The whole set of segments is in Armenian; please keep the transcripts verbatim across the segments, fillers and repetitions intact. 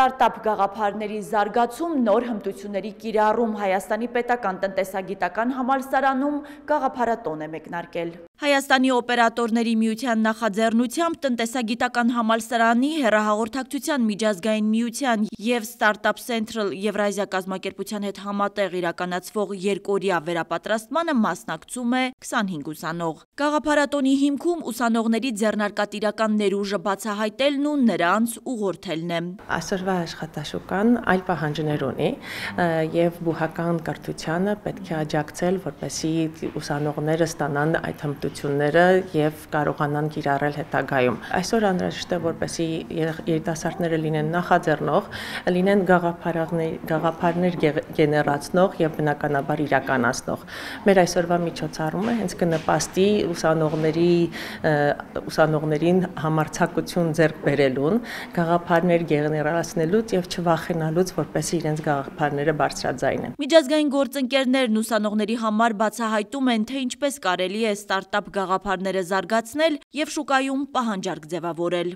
Ստարտափ գաղափարների զարգացում, նոր հմտությունների կիրառում Հայաստանի պետական տնտեսագիտական համալսարանում գաղափարատոն է մեկնարկել։ Հայաստանի օպերատորների միության նախաձեռնությամբ տնտեսագիտական համալսարանի, հեռահաղորդակցության միջազգային միության և Startup Central Եվրազիա կազմակերպության հետ համատեղ իրականացվող երկօրյա վերապատրաստմանը մասնակցում է քսանհինգ ուսանող։ Գաղափարատոնի հիմքում ուսանողների ձեռնարկատիրական ներուժը բացահայտելն ու նրանց ուղղորդելն է։ Այսօրվա աշխատաշուկան այլ պահանջներ ունի եւ բուհական կրթությանը պետք է աջակցել, որպեսզի ուսանողները ստանան այդ հմտությունները եւ կարողանան կիրառել հետագայում։ Այսօր անհրաժեշտ է, որպեսզի երիտասարդները լինեն նախաձեռնող, լինեն գաղափարներ, գաղափարներ գեներացնող եւ բնականաբար իրականացնող։ Մեր այսօրվա միջոցառումը հենց կնպաստի ուսանողների ուսանողներին համարձակություն ձեռք բերելուն, գաղափարներ գեներացնելուց եւ չվախենալուց, որպեսզի իրենց գաղափարները բարձրաձայնեն։ Միջազգային գործընկերներն ուսանողների համար բացահայտում են, թե ինչպես կարելի է ստարտափ գաղափարները զարգացնել եւ շուկայում պահանջարկ ձևավորել։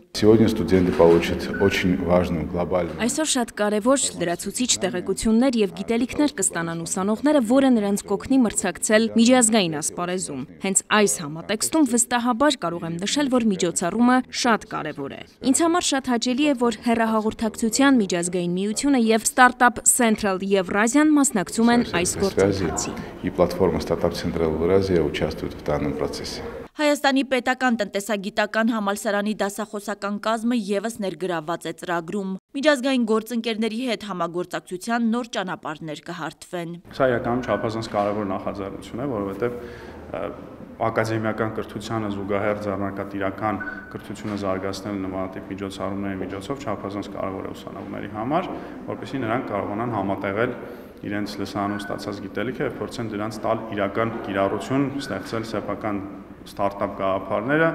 Այսօր շատ կարևոր լրացուցիչ տեղեկություններ եւ գիտելիքներ կստանան ուսանողները, որը նրանց կօգնի մրցակցել միջազգային ասպարեզում։ Հենց այս համատեքստում վստահաբար կարող եմ նշել, որ միջոցառումը շատ կարևոր է։ Ինձ համար շատ հաճելի է, որ հեռահաղորդակցության միջազգային միությունը եւ Startup Central Եվրազիան մասնակցում են այս գործընթացին։ Հայաստանի պետական տնտեսագիտական համալսարանի դասախոսական կազմը ևս ներգրավված է ծրագրում։ Միջազգային գործընկերների հետ համագործակցության նոր ճանապարհներ կհարթվեն։ Սա իրականում չափազանց կարևոր նախաձեռնություն է, որովհետև ակադեմիական կրթությանը զուգահեռ ձեռնարկատիրական կրթությունը զարգացնել նմանատիպ միջոցառումների միջոցով չափազանց կարևոր է ուսանողների համար, որպեսզի նրանք կարողանան համատեղել իրենց լսարանում ստացած գիտելիքը եւ փորձեն դրանց տալ իրական կիրառություն, ստեղծել սեփական ստարտափ գաղափարները,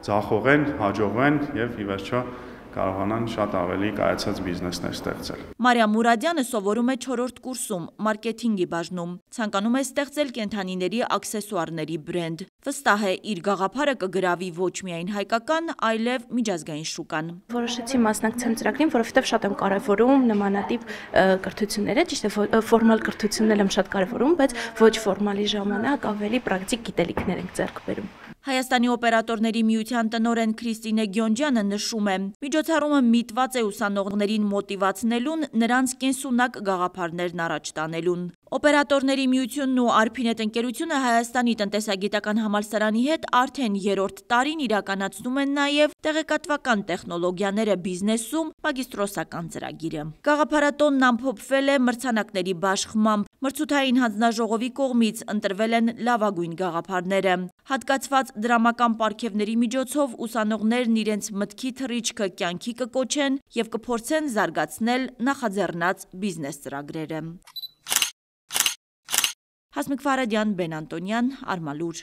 ձախողեն, հաջողեն եւ ի վերջո կարողանան շատ ավելի կայացած բիզնեսներ ստեղծել։ Մարիամ Մուրադյանը սովորում է չորրորդ կուրսում, մարքեթինգի բաժնում։ Ցանկանում է ստեղծել կենդանիների աքսեսուարների բրենդ։ Վստահ է, իր գաղափարը կգրավի ոչ միայն հայկական, այլև միջազգային շուկան։ Որոշեցի մասնակցել ծրագրին, որովհետև շատ եմ կարևորում նմանատիպ կրթությունները, ճիշտ է, ֆորմալ կրթությունն եմ շատ կարևորում, բայց ոչ ֆորմալի ժամանակ ավելի պրակտիկ գիտելիքներ ենք ձեռք բերում։ Հայաստանի օպերատորների միության տնօրեն Քրիստինե Գյոնջյանը նշում է. Միջոցառումը միտված է ուսանողներին մոտիվացնելուն, նրանց կենսունակ գաղափարներն առաջ տանելուն։ Օպերատորների միությունն ու Արփինետ ընկերությունը Հայաստանի տնտեսագիտական համալսարանի հետ արդեն երրորդ տարին իրականացնում են նաև տեղեկատվական տեխնոլոգիաները բիզնեսում մագիստրոսական ծրագիրը։ Գաղափարատոնն ամփոփվել է մրցանակների բաշխմամբ։ Մրցութային հանձնաժողովի կողմից ընտրվել են լավագույն գաղափարները։ Հատկացված դրամական պարգևների միջոցով ուսանողներն իրենց մտքի թռիչքը կյանքի կկոչեն եւ կփորձեն զարգացնել նախաձեռնած բիզնես ծրագրերը։ Հասմիկ Ֆարադյան, Բեն Անտոնյան, Արմալուր։